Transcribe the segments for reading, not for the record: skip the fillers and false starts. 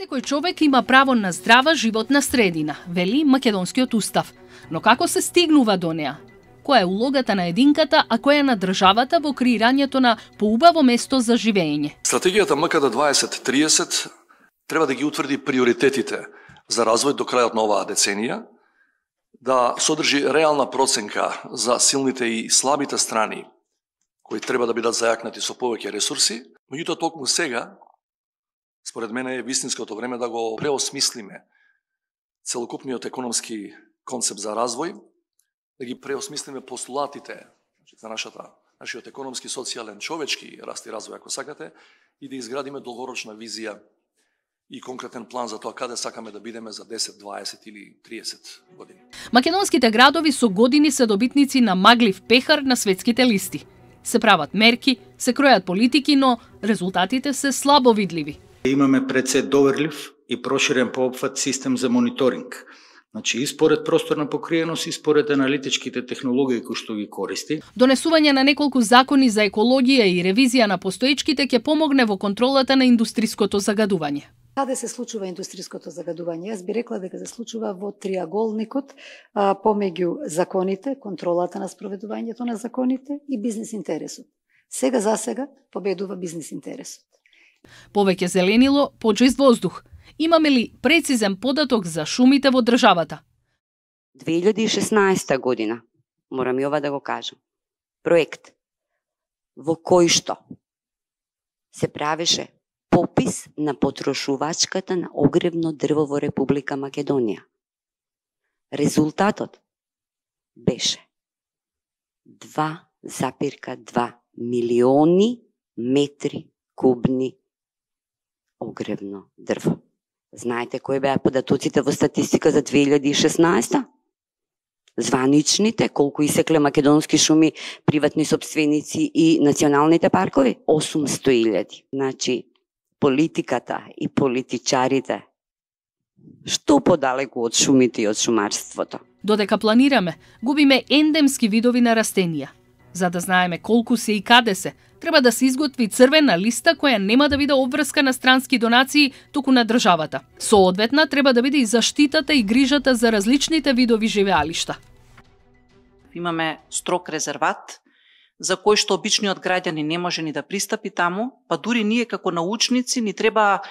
Секој човек има право на здрава животна средина, вели македонскиот устав. Но како се стигнува до неа? Која е улогата на единката, а која на државата во креирањето на поубаво место за живење? Стратегијата МКД 2030 треба да ги утврди приоритетите за развој до крајот на оваа деценија, да содржи реална проценка за силните и слабите страни кои треба да бидат зајакнати со повеќе ресурси, меѓутоа токму сега, според мене е вистинското време да го преосмислиме целокупниот економски концепт за развој, да ги преосмислиме постулатите за нашиот економски, социјален, човечки раст и развој, ако сакате, и да изградиме долгорочна визија и конкретен план за тоа каде сакаме да бидеме за 10, 20 или 30 години. Македонските градови со години се добитници на маглив пехар на светските листи. Се прават мерки, се кројат политики, но резултатите се слабо видливи. Имаме пред се доверлив и проширен по опфат систем за мониторинг. Значи, и според просторна покриеност, и според аналитичките технологии кои што ги користи. Донесување на неколку закони за екологија и ревизија на постоечките ќе помогне во контролата на индустриското загадување. Каде се случува индустриското загадување? Јас би рекла дека се случува во триаголникот помеѓу законите, контролата на спроведувањето на законите и бизнис интересот. Сега за сега победува бизнис интересот. Повеќе зеленило, почист воздух. Имаме ли прецизен податок за шумите во државата? 2016 година, морам и ова да го кажам, проект во кој што се правеше попис на потрошувачката на огревно дрво во Република Македонија. Резултатот беше 2,2 милиони метри кубни огревно дрво. Знаете кои беа податоците во статистика за 2016? Званичните, колку исекле македонски шуми, приватни сопственици и националните паркови? 800.000. Значи, политиката и политичарите што подалеку од шумите и од шумарството. Додека планираме, губиме ендемски видови на растенија. За да знаеме колку се и каде се, треба да се изготви црвена листа која нема да биде обврска на странски донации, туку на државата. Соодветна треба да биде и заштитата и грижата за различните видови живеалишта. Имаме строг резерват, за кој што обичниот граѓани не може ни да пристапи таму, па дури ние како научници ни треба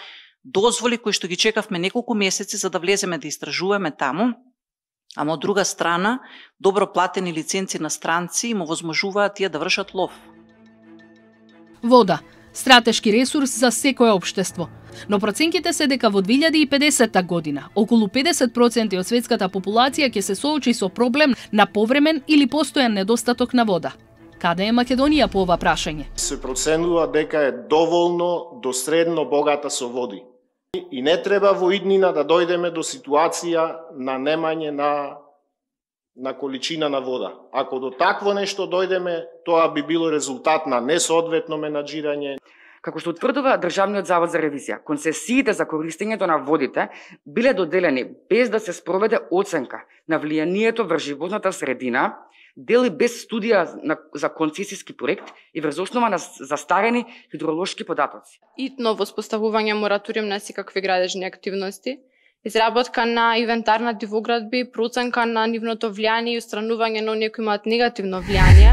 дозволи кои што ги чекавме неколку месеци за да влеземе да истражуваме таму, ама од друга страна, добро платени лиценци на странци им овозможуваат тие да вршат лов. Вода, стратешки ресурс за секое општество. Но проценките се дека во 2050 година околу 50% од светската популација ќе се соочи со проблем на повремен или постојан недостаток на вода. Каде е Македонија по ова прашање? Се проценува дека е доволно до средно богата со води. И не треба во иднина да дојдеме до ситуација на немање на количина на вода. Ако до такво нешто дојдеме, тоа би било резултат на несоодветно менаџирање. Како што утврдува Државниот завод за ревизија, концесиите за користењето на водите биле доделени без да се спроведе оценка на влијанието врз животната средина, дели без студија за концесиски проект и врз основа на застарени хидролошки податоци. Итно воспоставување мораториум на секакви градежни активности, изработка на инвентар на дивоградби, проценка на нивното влијание и устранување на оние кои имаат негативно влијание.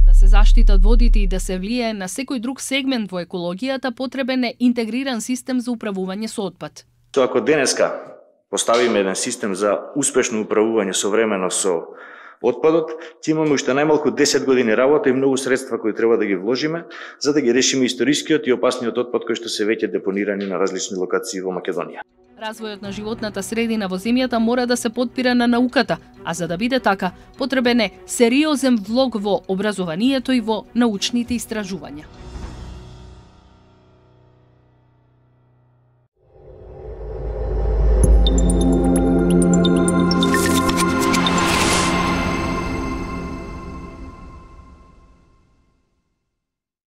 Да се заштитат водите и да се влијае на секој друг сегмент во екологијата, потребен е интегриран систем за управување со отпад. Ако денеска поставиме еден систем за успешно управување современо со отпадот, ќе имаме уште најмалку 10 години работа и многу средства кои треба да ги вложиме за да ги решиме историскиот и опасниот отпад кој што се веќе депонирани на различни локации во Македонија. Развојот на животната средина во земјата мора да се потпира на науката, а за да биде така, потребен е сериозен влог во образованието и во научните истражувања.